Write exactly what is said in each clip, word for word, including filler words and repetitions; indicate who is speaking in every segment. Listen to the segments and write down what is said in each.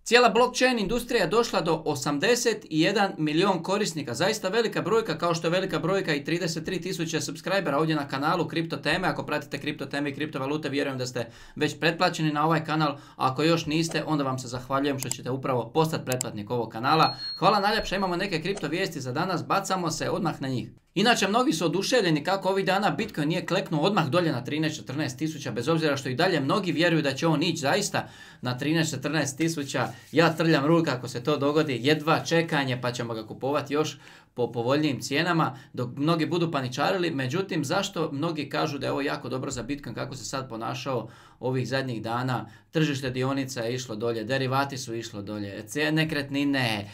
Speaker 1: Cijela blockchain industrija je došla do osamdeset jedan milijun korisnika. Zaista velika brojka, kao što je velika brojka i trideset tri tisuće subscribera ovdje na kanalu Kripto teme. Ako pratite kripto teme i kriptovalute, vjerujem da ste već pretplaćeni na ovaj kanal. A ako još niste, onda vam se zahvaljujem što ćete upravo postati pretplatnik ovog kanala. Hvala najljepša, imamo neke kripto vijesti za danas, bacamo se odmah na njih. Inače, mnogi su oduševljeni kako ovih dana Bitcoin nije kleknuo odmah dolje na trinaest četrnaest tisuća, bez obzira što i dalje mnogi vjeruju da će on ići zaista na trinaest četrnaest tisuća. Ja trljam ruku kako se to dogodi, jedva čekanje pa ćemo ga kupovati još po povoljnijim cijenama, dok mnogi budu paničarili. Međutim, zašto mnogi kažu da je ovo jako dobro za Bitcoin, kako se sad ponašao ovih zadnjih dana? Tržište dionica je išlo dolje, derivati su išlo dolje, nekretnine,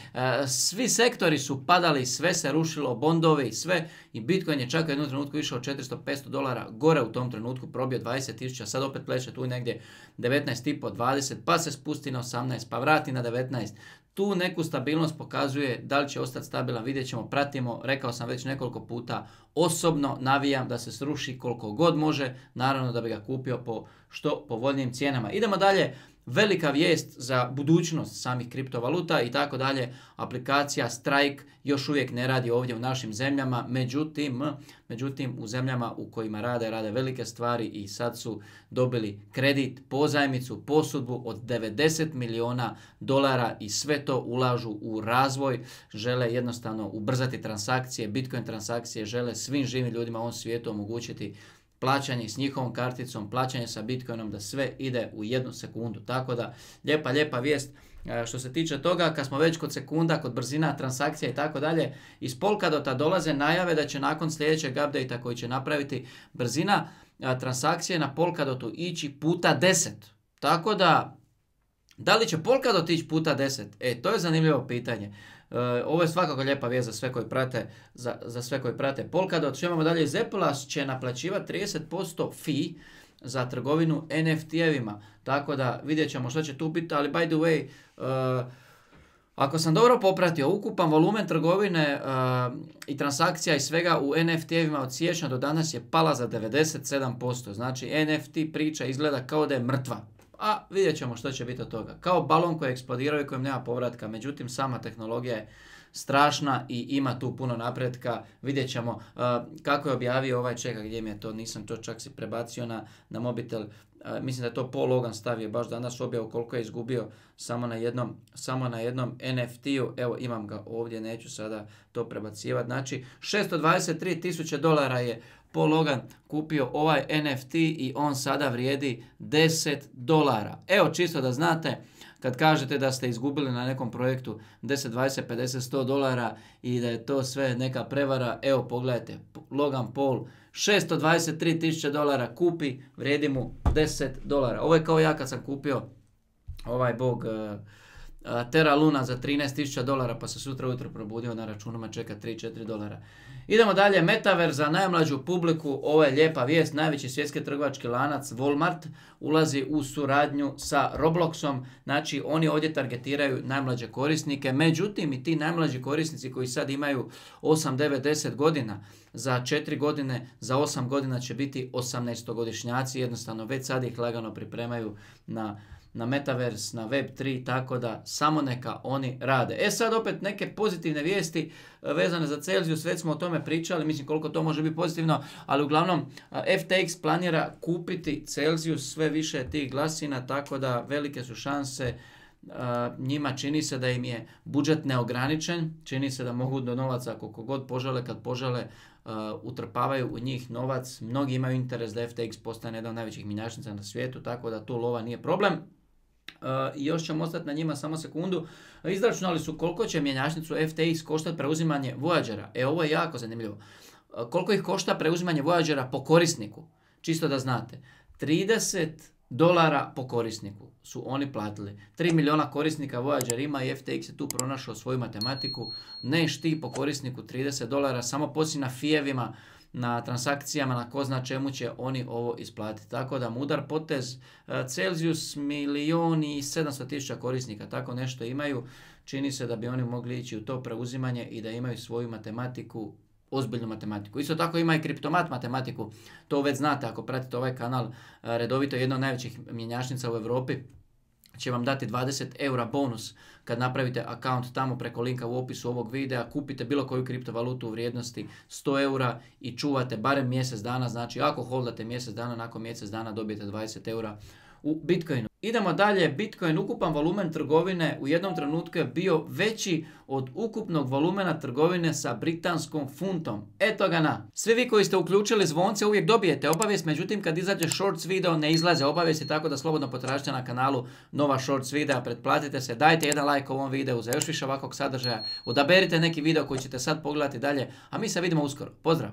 Speaker 1: svi sektori su padali, sve se rušilo, bondovi, sve, i Bitcoin je čak u jednom trenutku išao četiristo do petsto dolara gore, u tom trenutku probio dvadeset tisuća, sad opet pleše tu negdje devetnaest i pol, dvadeset, pa se spusti na osamnaest, pa vrati na devetnaest. Tu neku stabilnost pokazuje, da li će ostati stabilan, vidjet ćemo, pratimo. Rekao sam već nekoliko puta, osobno navijam da se sruši koliko god može, naravno da bi ga kupio po što povoljnijim cijenama. Idemo dalje, velika vijest za budućnost samih kriptovaluta i tako dalje. Aplikacija Strike još uvijek ne radi ovdje u našim zemljama, međutim, međutim u zemljama u kojima rade, rade velike stvari i sad su dobili kredit, pozajmicu, posudbu od devedeset milijuna dolara i sve to ulažu u razvoj. Žele jednostavno ubrzati transakcije, Bitcoin transakcije, žele svim živim ljudima u ovom svijetu omogućiti plaćanje s njihovom karticom, plaćanje sa Bitcoinom, da sve ide u jednu sekundu. Tako da, lijepa, lijepa vijest. Što se tiče toga, kad smo već kod sekunda, kod brzina transakcija i tako dalje, iz Polkadota dolaze najave da će nakon sljedećeg update-a koji će napraviti brzina transakcije na Polkadotu ići puta deset. Tako da, da li će Polkadot ići puta deset? E, to je zanimljivo pitanje. Uh, ovo je svakako lijepa vijest za sve koji prate, za, za sve koji prate Polkadot. Što imamo dalje? Zepula će naplaćivati trideset posto fee za trgovinu en ef ti-evima. Tako da vidjet ćemo što će tu biti, ali by the way, uh, ako sam dobro popratio, ukupan volumen trgovine uh, i transakcija i svega u en ef ti-evima od siječnja do danas je pala za devedeset sedam posto. Znači en ef ti priča izgleda kao da je mrtva. A vidjet ćemo što će biti od toga. Kao balon koji eksplodirao i kojem nema povratka. Međutim, sama tehnologija je strašna i ima tu puno napretka. Vidjet ćemo uh, kako je objavio ovaj, čeka gdje mi je to, nisam to čak si prebacio na, na mobitel. Uh, mislim da je to Paul Logan stavio baš danas objavu koliko je izgubio samo na jednom, samo na jednom en ef ti-u. Evo, imam ga ovdje, neću sada to prebacivati. Znači, šesto dvadeset tri tisuće dolara je Paul Logan kupio ovaj en ef ti i on sada vrijedi deset dolara. Evo, čisto da znate, kad kažete da ste izgubili na nekom projektu deset, dvadeset, pedeset, sto dolara i da je to sve neka prevara, evo pogledajte, Logan Paul šesto dvadeset tri tisuće dolara kupi, vrijedi mu deset dolara. Ovo je kao ja kad sam kupio ovaj bog uh, uh, Terra Luna za trinaest tisuća dolara, pa se sutra ujutro probudio na računima, čeka tri do četiri dolara. Idemo dalje, Metaverse za najmlađu publiku, ovo je lijepa vijest, najveći svjetski trgovački lanac Walmart ulazi u suradnju sa Robloxom, znači oni ovdje targetiraju najmlađe korisnike, međutim i ti najmlađi korisnici koji sad imaju osam, devet, deset godina, za četiri godine, za osam godina će biti osamnaestogodišnjaci, jednostavno već sad ih lagano pripremaju na na Metaverse, na web tri, tako da samo neka oni rade. E sad opet neke pozitivne vijesti vezane za Celsius, već smo o tome pričali, mislim koliko to može biti pozitivno, ali uglavnom ef te eks planira kupiti Celsius, sve više tih glasina, tako da velike su šanse. Uh, njima čini se da im je budžet neograničen, čini se da mogu do novaca koliko god požele, kad požele uh, utrpavaju u njih novac. Mnogi imaju interes da ef te eks postane jedan od najvećih mjenjačnica na svijetu, tako da tu lova nije problem. Uh, I još ćemo ostati na njima samo sekundu. Izračunali su koliko će mjenjačnicu ef te eks koštati preuzimanje Voyagera. E, ovo je jako zanimljivo. Uh, koliko ih košta preuzimanje Voyagera po korisniku? Čisto da znate. trideset dolara po korisniku su oni platili. tri milijuna korisnika Voyager ima i ef te eks je tu pronašao svoju matematiku. Ne šti po korisniku trideset dolara, samo poslije na fijevima, na transakcijama, na ko zna čemu će oni ovo isplatiti. Tako da mudar potez. Celsius milijun i sedamsto tisuća korisnika, tako nešto imaju. Čini se da bi oni mogli ići u to preuzimanje i da imaju svoju matematiku, ozbiljnu matematiku. Isto tako ima i kriptomat matematiku, to već znate ako pratite ovaj kanal redovito, jedna od najvećih mjenjačnica u Europi. će vam dati dvadeset eura bonus kad napravite account tamo preko linka u opisu ovog videa, kupite bilo koju kriptovalutu u vrijednosti sto eura i čuvate barem mjesec dana, znači ako holdate mjesec dana, nakon mjesec dana dobijete dvadeset eura u Bitcoinu. Idemo dalje, Bitcoin, ukupan volumen trgovine u jednom trenutku je bio veći od ukupnog volumena trgovine sa britanskom funtom. Eto ga na. Svi vi koji ste uključili zvonce uvijek dobijete obavijest, međutim kad izađe shorts video ne izlaze obavijesti, tako da slobodno potražite na kanalu nova shorts videa, pretplatite se, dajte jedan like ovom videu za još više ovakvog sadržaja, odaberite neki video koji ćete sad pogledati dalje, a mi se vidimo uskoro. Pozdrav!